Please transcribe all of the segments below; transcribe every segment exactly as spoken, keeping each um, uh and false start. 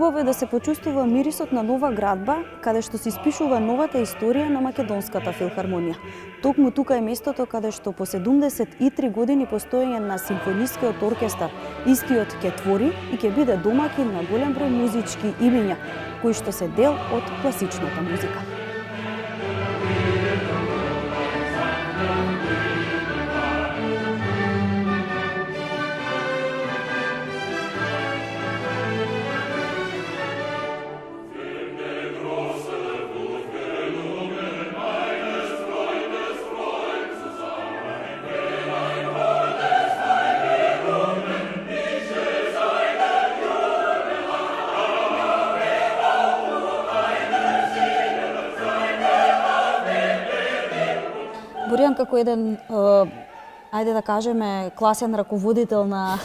Убаво е да се почувствува мирисот на нова градба, каде што се испишува новата историја на Македонската филхармонија. Токму тука е местото каде што по седумдесет и три години постоење на симфонискиот оркестар, истиот ќе твори и ќе биде домакин на голем број музички имиња, кои што се дел од класичната музика. Боријан како еден, ајде да кажеме, класен раководител на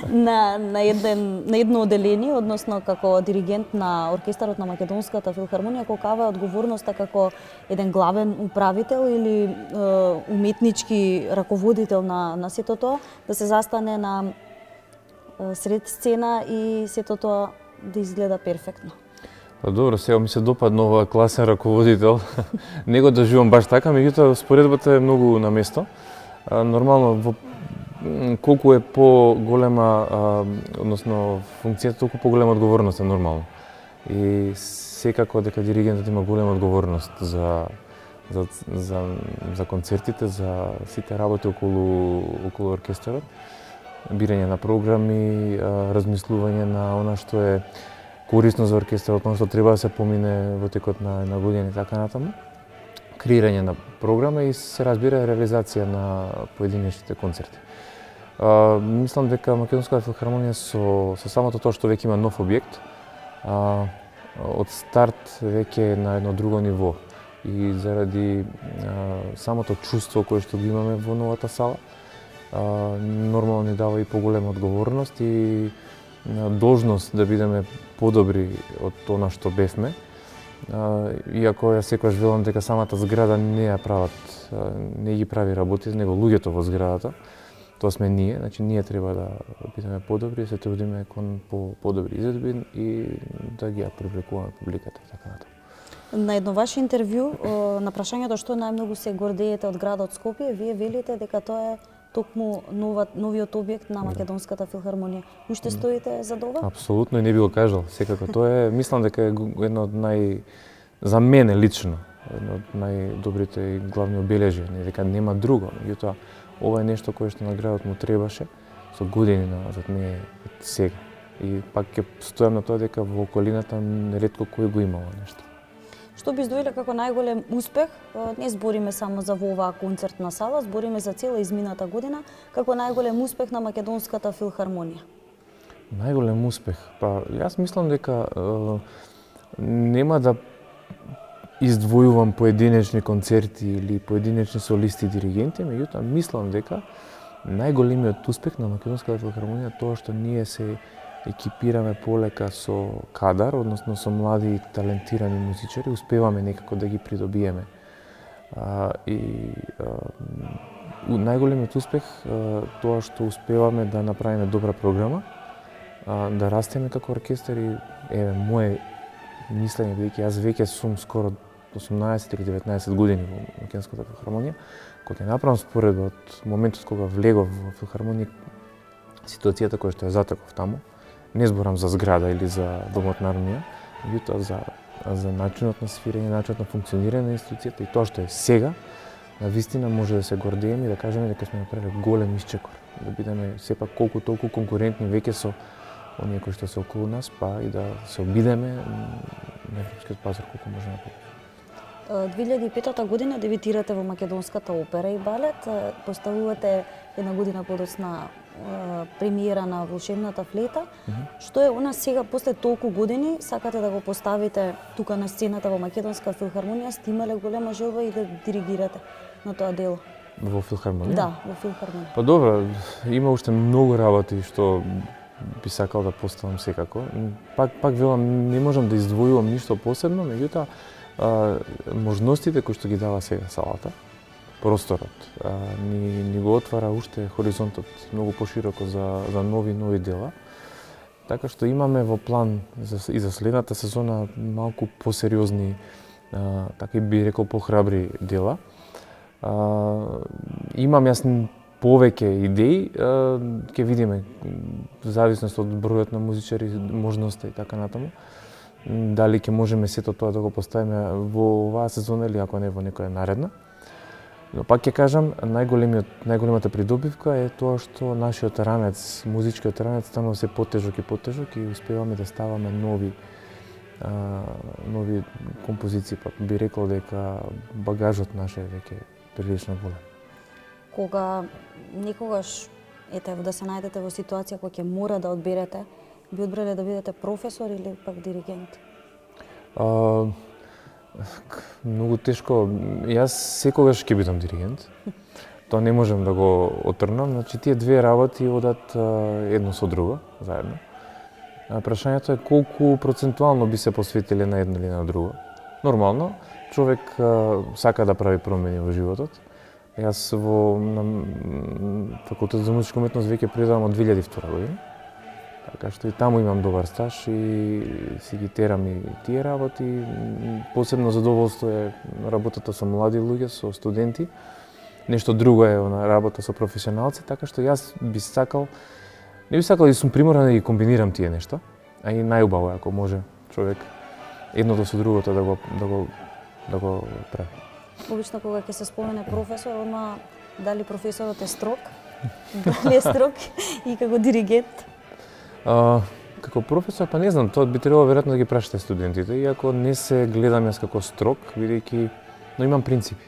на на еден на едно одделение, односно како диригент на оркестарот на Македонската филхармонија, колкава е одговорноста како еден главен управител или е, уметнички раководител на на сето тоа, да се застане на е, сред сцена и сето тоа да изгледа перфектно. Па добро, сега ми се допадна ова класен раководител. Не го доживам баш така, меѓутоа споредбата е многу на место. А, нормално, во, колку е по-голема, односно функцијата, толку по-голема одговорност е нормално. И секако дека диригентот има голема одговорност за за за за концертите, за сите работи околу околу оркестарот, бирање на програми, размислување на она што е корисно за оркестарот, ono што треба да се помине во текот на една година и така натаму. Креирање на програма и се разбира реализација на поединечните концерти. А, мислам дека Македонската филхармонија со со самото тоа што веќе има нов објект, а, од старт веќе е на едно друго ниво и заради а, самото чувство кое што го имаме во новата сала, а, нормално ни дава и поголема одговорност и должност да бидеме подобри од тоа што бевме. Иако ја секогаш велам дека самата зграда не ја прават, не ги прави работите, него луѓето во зградата. Тоа сме ние, значи ние треба да бидеме подобри, се трудиме кон по подобри изvedби и да ги ја привлекуваме публиката и така натаму. На едно ваше интервју на прашањето што најмногу се гордеете од градот Скопје, вие велите дека тоа е токму нова, новиот објект на Македонската филхармонија. Уште стоите за ова? Апсолутно, и не би го кажал. Секако тоа е, мислам дека е едно од нај, за мене лично, едно од најдобрите и главни обележија, не дека нема друго. Меѓутоа, ова е нешто кое што на градот му требаше со години назад, не сега. И пак ќе стојам на тоа дека во околината неретко кој го имало нешто. Што би издвоиле како најголем успех? Не збориме само за во оваа концертна сала, збориме за цела измината година, како најголем успех на Македонската филхармонија. Најголем успех? Па, јас мислам дека е, нема да издвојувам поединечни концерти или поединечни солисти и диригенти, меѓутоа мислам дека најголемиот успех на Македонската филхармонија тоа што ние се екипираме полека со кадар, односно со млади и талентирани музичари, успеваме некако да ги придобиеме. А, и а, најголемиот успех а, тоа што успеваме да направиме добра програма, а, да растеме како оркестар и еве мое мислење, бидејќи јас веќе сум скоро осумнаесет или деветнаесет години во Македонската филхармонија, кога ќе направам споредба од моментот кога влегов во филхармонија, ситуацијата која што ја затеков таму, не зборам за зграда или за домот на армија, меѓутоа за за начинот на свирење, начинот на функционирање на институцијата и тоа што е сега, навистина може да се гордееме и да кажеме дека сме направиле голем исчекор, да бидеме сепак колку толку конкурентни веќе со оние кои што се околу нас, па и да се обидеме на европскиот пазар колку може напред. две илјади и петата година дебитирате во Македонската опера и балет, поставувате една година подоцна премиера на Волшебната флейта. Mm -hmm. Што е она сега, после толку години, сакате да го поставите тука на сцената во Македонска филхармонија, сте имале голема желба и да диригирате на тоа дело? Во филхармонија? Да, во филхармонија. Па добро, има уште многу работи што би сакал да поставам секако. Пак пак велам, не можам да издвојувам ништо посебно, меѓутоа можностите кои што ги дава сега салата, просторот, а, ни, ни го отвара уште хоризонтот многу пошироко за, за нови нови дела. Така што имаме во план за, и за следната сезона малку посериозни, а, така и би рекол похрабри дела. А, имам јас повеќе идеи, ќе видиме, в зависност од бројот на музичари, можноста и така натаму. Дали ќе можеме сето тоа да го поставиме во оваа сезона или ако не во некоја наредна. Но пак ќе кажам, најголемиот најголемата придобивка е тоа што нашиот ранец, музичкиот ранец станува се потежок и потежок и успеваме да ставаме нови а, нови композиции, па би рекол дека багажот наш е веќе прилично голем. Кога некогаш ете да се најдете во ситуација кога ќе мора да одберете, би одбрале да бидете професор или пак диригент? А, многу тешко. Јас секогаш ќе бидам диригент. Тоа не можем да го отрнам. Значи, тие две работи одат едно со друго, заедно. А прашањето е колку процентуално би се посветиле на едно или на друго. Нормално, човек а, сака да прави промени во животот. Јас во на факултет за музичка уметност веќе предавам од две илјади и втора година. Така што и таму имам добар стаж и си ги терам и тие работи. Посебно задоволство е работата со млади луѓе, со студенти. Нешто друго е на работа со професионалци, така што јас би сакал, не би сакал да сум приморан да ги комбинирам тие нешта, а и најубаво ако може човек едното со другото да го да го да го прави. Обично кога ќе се спомене професор, одма дали професорот е строг, дали е строг и како диригент? А, како професор, па не знам, тоа би требало веројатно да ги прашате студентите, иако не се гледам јас како строг, бидејќи, но имам принципи.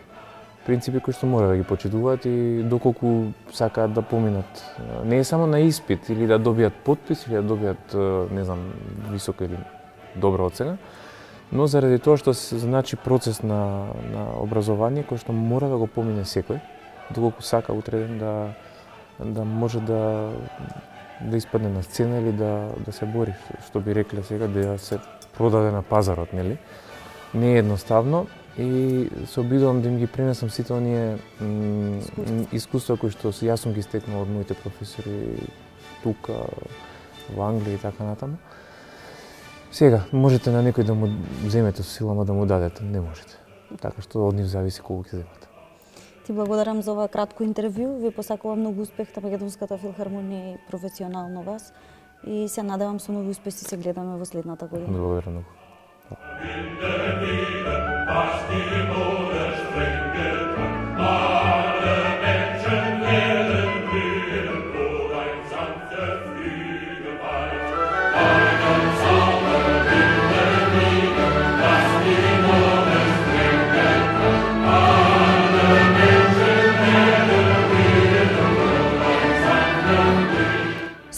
Принципи кои што мора да ги почитуваат и доколку сакаат да поминат. Не е само на испит или да добијат потпис или да добијат, не знам, висока или добра оцена, но заради тоа што се значи процес на, на образование кој што мора да го помине секој, доколку сака утре да, да може да да испадне на сцена или да да се бори, што би рекле сега, да се продаде на пазарот, нели? Не е едноставно и се обидувам да им ги пренесам сите оние искуства кои што јас сум ги стекнал од моите професори тука во Англија и така натаму. Сега, можете на некој да му земете со сила, ама да му дадете, не можете. Така што од нив зависи колку ќе земате. Ти благодарам за ова кратко интервју. Ви посакувам многу успех на Македонската филхармонија и професионално вас. И се надевам со нови успеси се гледаме во следната година. Благодарам многу.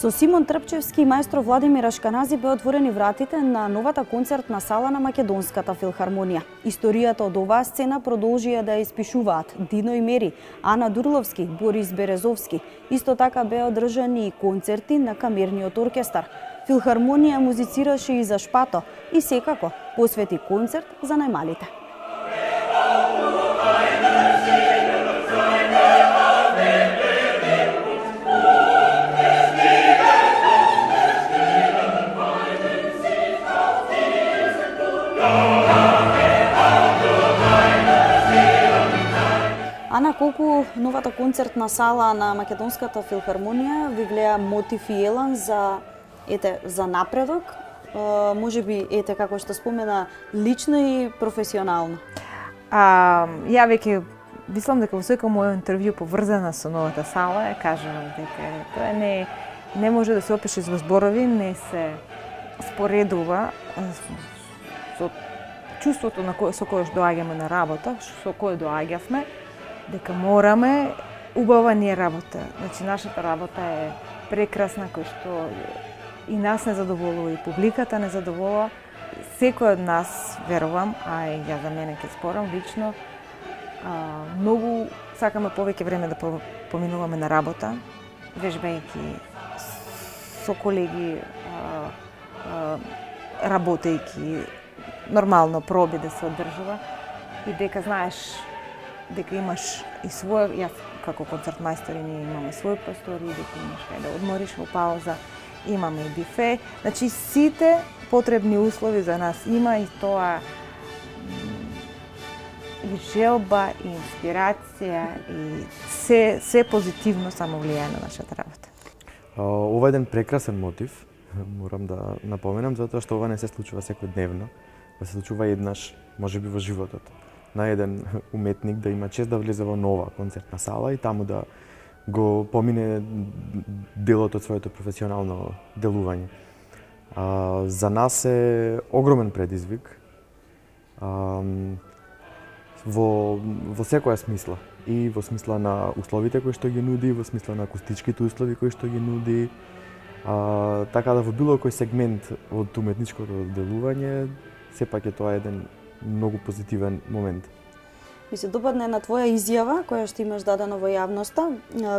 Со Симон Трпчевски и маестро Владимир Ашканази беа отворени вратите на новата концертна сала на Македонската филхармонија. Историјата од оваа сцена продолжија да ја испишуваат Дино и Мери, Ана Дурловски, Борис Березовски. Исто така беа одржани и концерти на камерниот оркестар. Филхармонија музицираше и за Шпато и секако посвети концерт за најмалите. Ана, колку новата концертна сала на Македонската филхармонија ви влеа мотив и елан за ете за напредок, е, можеби ете како што спомена лично и професионално. А, ја веќе мислам дека во секој мој интервју поврзана со новата сала ја кажувам дека тоа не не може да се опише со зборови, не се споредува со чувството на кој со кое доаѓаме на работа, со кое доаѓавме, дека мораме убава ни е работа. Значи нашата работа е прекрасна, кој што и нас не задоволува, и публиката не задоволува. Секој од нас, верувам, а и ја за мене ќе спорам лично, а, многу сакаме повеќе време да поминуваме на работа, вежбајќи со колеги, а, а, работејќи, нормално проби да се одржува и дека знаеш дека имаш и свој, јас како концертмајстор ние имаме свој простори, дека имаш кај да одмориш во пауза имаме и бифе. Значи сите потребни услови за нас има и тоа и желба, и инспирација, и се, се позитивно само влијае на нашата работа. Ова е еден прекрасен мотив, морам да напоменам, затоа што ова не се случува секојдневно, да се случува еднаш, можеби во животот, на еден уметник да има чест да влезе во нова концертна сала и таму да го помине делот од своето професионално делување. А, за нас е огромен предизвик а, во, во секоја смисла. И во смисла на условите кои што ги нуди, во смисла на акустичките услови кои што ги нуди. А, така да во било кој сегмент од уметничкото делување, сепак е тоа еден многу позитивен момент. Ми се допадне на твоја изјава, која што имаш дадено во јавноста,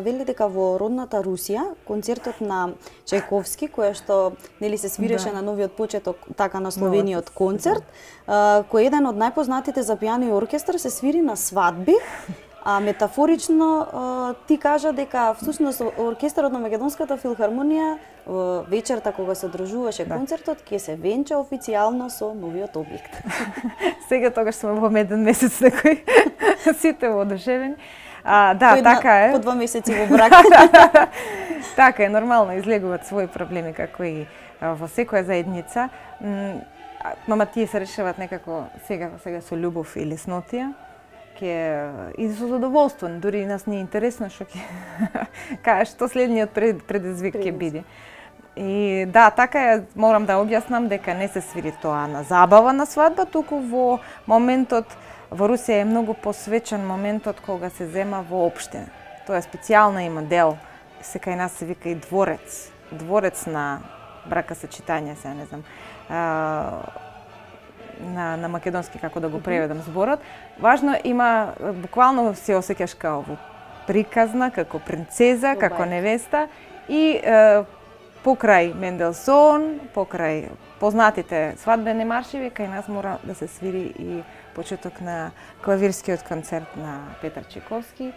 вели дека во родната Русија, концертот на Чајковски, која што нели се свиреше да. на новиот почеток, така насловениот концерт, да. кој е еден од најпознатите за пијано и оркестар, се свири на свадби. А метафорично ти кажа дека всушност оркестарот на Македонската филхармонија вечерта кога се одржуваше да. концертот ќе се венча официјално со новиот објект. Сега тогаш сме во меден месец на кој сите воодушевени. А, да, Кој така е. По два месеци во брак. Така е, нормално излегуваат своји проблеми како и во секоја заедница. Мама тие се решаваат некако сега сега со љубов и леснотија. Ке и со задоволство, дури и нас не е интересно што ќе кажеш што следниот предизвик ќе биде. И да, така е, морам да објаснам дека не се свири тоа на забава на свадба, туку во моментот во Русија е многу посвечен моментот кога се зема во општина. Тоа е специјална има дел, се кај нас се вика и дворец, дворец на бракосочетање, се не знам. А, на на македонски како да го преведам зборот. Важно има буквално се осеќаш како во приказна, како принцеза, како невеста и е, покрај Менделсон, покрај познатите свадбени маршеви, кај нас мора да се свири и почеток на клавирскиот концерт на Петар Чајковски.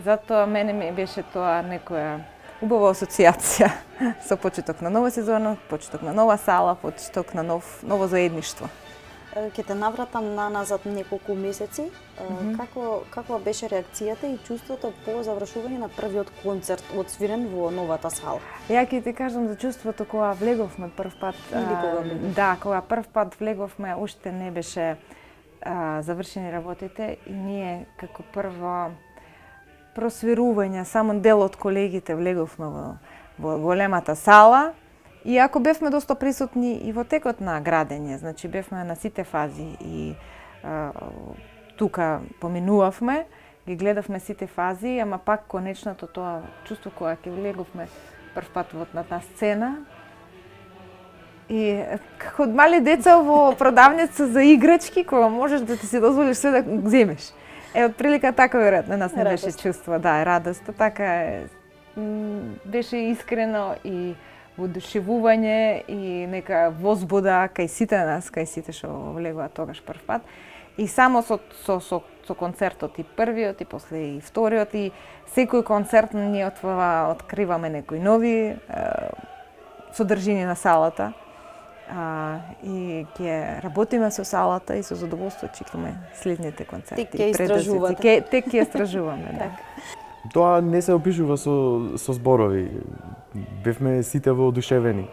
Затоа мене ми беше тоа некоја убава асоцијација со почеток на нова сезона, почеток на нова сала, почеток на нов ново заедништво. Ќе те навратам на назад неколку месеци. Mm -hmm. Како каква беше реакцијата и чувството по завршување на првиот концерт одсвирен во новата сала? Ја ќе ти кажам за чувството кога влеговме прв пат. Или кога влеговме? Да, кога прв пат влеговме, уште не беше а, завршени работите и ние како прво просвирување, само дел од колегите влеговме во, во големата сала. И ако бевме доста присутни и во текот на градење, значи бевме на сите фази и а, тука поминувавме, ги гледавме сите фази, ама пак конечното тоа чувство кога ќе влеговме прв пат во на сцена. И како од мали деца во продавница за играчки, кога можеш да ти си дозволиш се да го земеш. Е, од прилика така веројатно нас не беше чувство, да, радост, така е, беше искрено и воодушевување и нека возбуда кај сите нас, кај сите што влегуваат тогаш прв пат. И само со, со, со, со концертот и првиот и после и вториот и секој концерт ние отвова, откриваме некои нови е, содржини на салата. А, и ќе работиме со салата и со задоволство чекаме следните концерти. Тек ќе истражувате. Тек ќе истражуваме, да. Тоа не се опишува со, со зборови. Бевме сите воодушевени.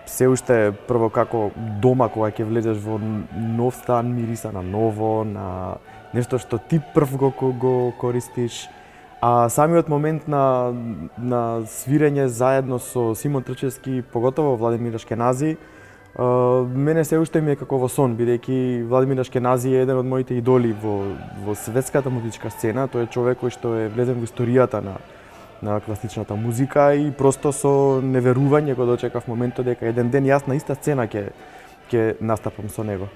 Се уште прво како дома кога ќе влезеш во нов стан, мириса на ново, на нешто што ти прв го, го користиш. А самиот момент на, на свирење заедно со Симон Трчевски, поготово Владимир Ашкенази, мене се уште ми е како во сон, бидејќи Владимир Ашкенази е еден од моите идоли во, во светската музичка сцена. Тој е човек кој што е влезен во историјата на, на класичната музика и просто со неверување го дочекав моментот дека еден ден јас на иста сцена ќе ќе настапам со него.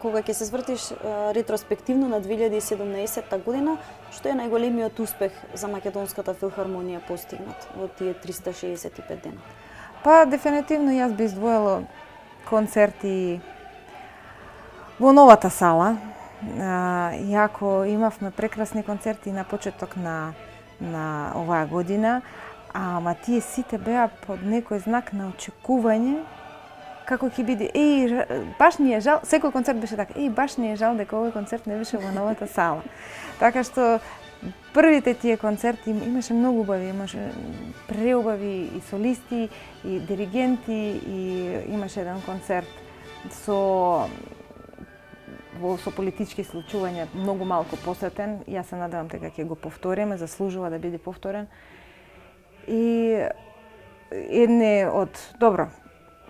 Кога ќе се свртиш ретроспективно на две илјади и седумнаесетта година, што е најголемиот успех за Македонската филхармонија постигнат во тие триста шеесет и пет дена? Па дефинитивно јас би издвоила концерти во новата сала. Иако имавме прекрасни концерти на почеток на на оваа година, ама тие сите беа под некој знак на очекување како ќе биде. Еј, баш ни е жал, секој концерт беше така. Еј, баш ни е жал дека овој концерт не беше во новата сала. Така што првите тие концерти имаше многу убави, имаше преубави и солисти, и диригенти, и имаше еден концерт со во со политички случувања многу малку посетен. Јас се надевам дека ќе го повториме, заслужува да биде повторен. И едне од добро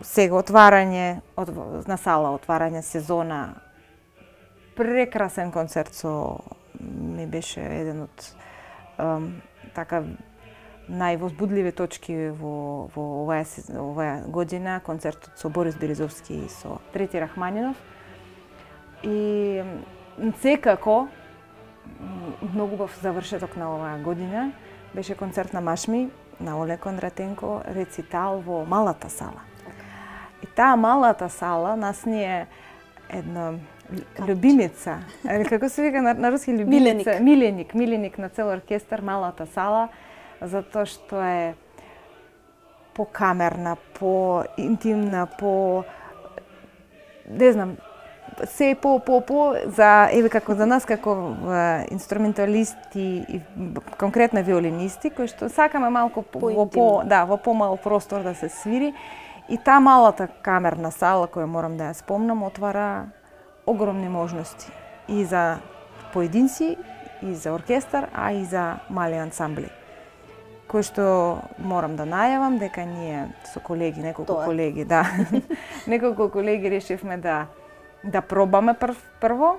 сега отварање од на сала, отварање сезона, прекрасен концерт со ми беше еден од um, така највозбудливи точки во во оваа оваа година, концертот со Борис Березовски и со Трети Рахманинов. И секако многу убав завршеток на оваа година беше концерт на Машми на Олег Кондратенко, рецитал во малата сала. И таа малата сала нас ни е една љубимица, или како се вика на, на руски љубимица, миленик, миленик на цел оркестар, малата сала, затоа што е покамерна, по-интимна, по не знам, се по по по за еве како за нас како инструменталисти и конкретно виолинисти кои што сакаме малку во по да, во помал простор да се свири. И таа малата камерна сала која морам да ја спомнам отвара огромни можности и за поединци, и за оркестар, а и за мали ансамбли. Кој што морам да најавам дека ние со колеги, неколку Тоа. колеги, да, неколку колеги решивме да да пробаме прв, прво,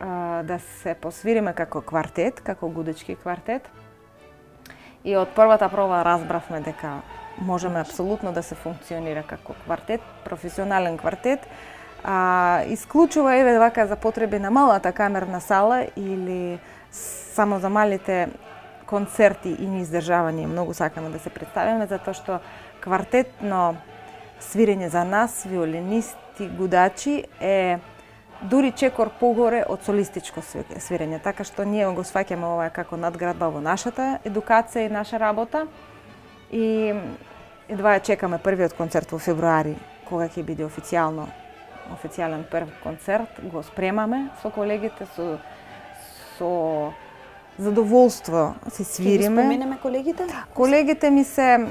а, да се посвириме како квартет, како гудечки квартет. И од првата проба разбравме дека можеме апсолутно да се функционира како квартет, професионален квартет. А, исклучува еве вака за потреби на малата камерна сала или само за малите концерти и неиздржавање. Многу сакаме да се представиме затоа што квартетно свирење за нас, виолинисти, гудачи, е дури чекор погоре од солистичко свирење. Така што ние го сваќаме ова како надградба во нашата едукација и наша работа. И едва ја чекаме првиот концерт во февруари, кога ќе биде официјално официјален прв концерт. Го спремаме со колегите, со со задоволство се свириме. Ќе ги споменеме колегите? Колегите ми се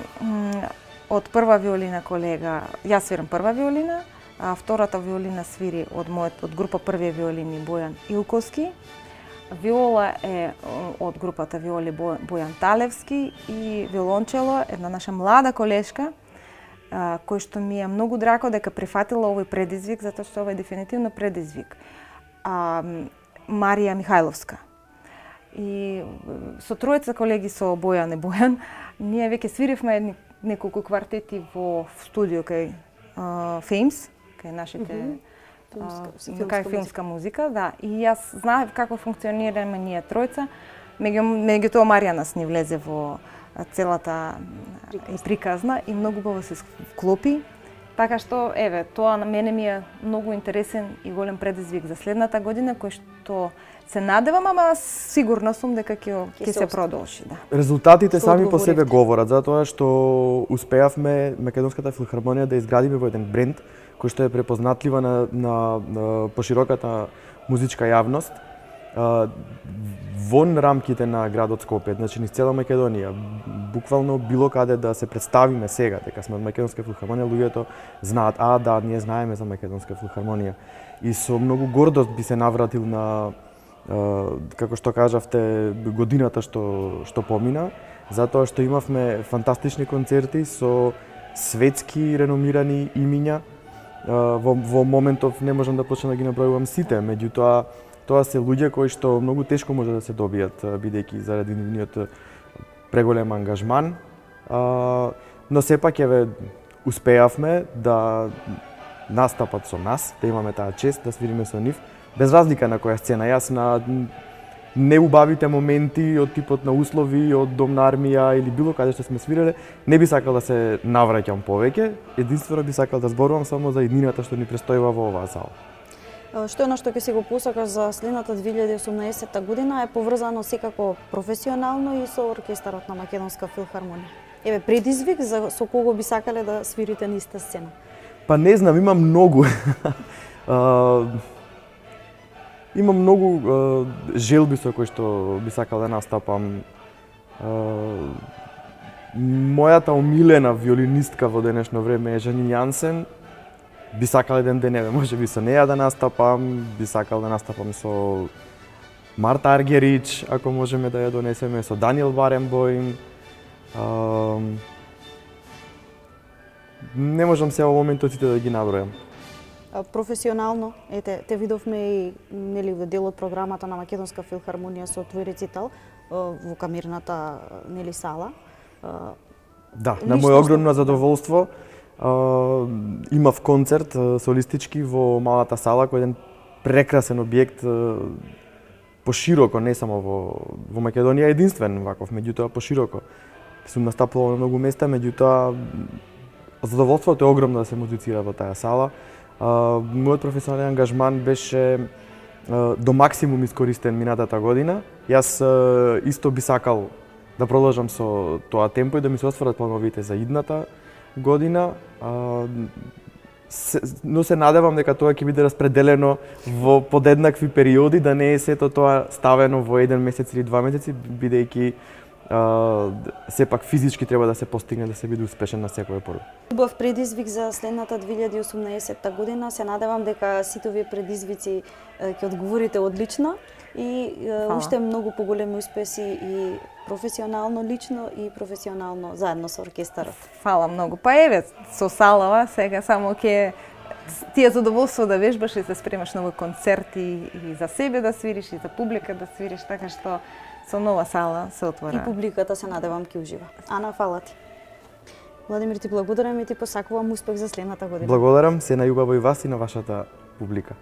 од прва виолина колега, јас свирам прва виолина, а втората виолина свири од мојот од група први виолини Бојан Илковски. Виола е од групата виоли Бојан Талевски и виолончело една наша млада колешка кој што ми е многу драго дека прифатила овој предизвик затоа што ова е дефинитивно предизвик. А, Марија Михајловска. И со тројца колеги со Бојан и Бојан ние веќе свиривме неколку квартети во студио кај Феймс, кај нашите mm -hmm. Филмска, кај филмска музика, да. И јас знаев како функционираме ние тројца. Меѓу меѓутоа Марија нас ни влезе во целата приказна, приказна и многу убаво се вклопи. Така што еве, тоа на мене ми е многу интересен и голем предизвик за следната година кој што се надевам, ама сигурна сум дека ќе ќе се продолжи, да. Резултатите сами по себе говорат затоа што успеавме Македонската филхармонија да изградиме во еден бренд кој што е препознатлива на, на, на пошироката музичка јавност а, вон рамките на градот Скопје, значи низ цела Македонија. Буквално било каде да се представиме сега дека сме од Македонска филхармонија, луѓето знаат, а да, ние знаеме за Македонска филхармонија. И со многу гордост би се навратил на како што кажавте, годината што што помина, затоа што имавме фантастични концерти со светски реномирани имиња. Во, во моментов не можам да почнам да ги набројувам сите, меѓутоа тоа се луѓе кои што многу тешко може да се добијат бидејќи заради нивниот преголем ангажман. Но сепак еве успеавме да настапат со нас, да имаме таа чест да свириме со нив. Без разлика на која сцена, јас на неубавите моменти од типот на услови, од Дом на армија или било каде што сме свиреле, не би сакал да се навраќам повеќе, единствено би сакал да зборувам само за иднината што ни престојува во оваа зала. Што е на што ќе си го посакаш за следната две илјади и осумнаесетта година е поврзано секако професионално и со оркестарот на Македонска филхармонија? Еве предизвик за со кого би сакале да свирите на иста сцена? Па не знам, има многу. а, има многу а, желби со кои што би сакал да настапам. А, мојата омилена виолинистка во денешно време е Жанин Јансен. Би сакал еден ден, еве, може би со неја да настапам, би сакал да настапам со Марта Аргерич, ако можеме да ја донесеме, со Даниел Баренбоим. А, не можам сега во моментот сите да ги набројам. Професионално, ете, те видовме и нели во дел од програмата на Македонска филхармонија со твој рецитал во камерната нели сала. Да, на моје огромно задоволство. Uh, имав концерт uh, солистички во малата сала, кој е еден прекрасен објект uh, пошироко, не само во, во Македонија, единствен ваков, меѓутоа пошироко. Сум настапувал на многу места, меѓутоа задоволството е огромно да се музицира во таа сала. Uh, мојот професионален ангажман беше uh, до максимум искористен минатата година. Јас uh, исто би сакал да продолжам со тоа темпо и да ми се остварат плановите за идната година, а, се, но се надевам дека тоа ќе биде распределено во подеднакви периоди, да не е сето тоа ставено во еден месец или два месеци, бидејќи а, сепак физички треба да се постигне да се биде успешен на секој пору. Убав предизвик за следната две илјади и осумнаесетта година. Се надевам дека сите овие предизвици ќе одговорите одлично и Фала. уште многу поголеми успеси и професионално, лично и професионално заедно со оркестарот. Фала многу. Па еве, со салава сега само ќе ти е задоволство да вежбаш и да спремаш нови концерти и за себе да свириш и за публика да свириш, така што со нова сала се отвора. И публиката се надевам ќе ужива. Ана, фала ти. Владимир, ти благодарам и ти посакувам успех за следната година. Благодарам, се најубаво и вас и на вашата публика.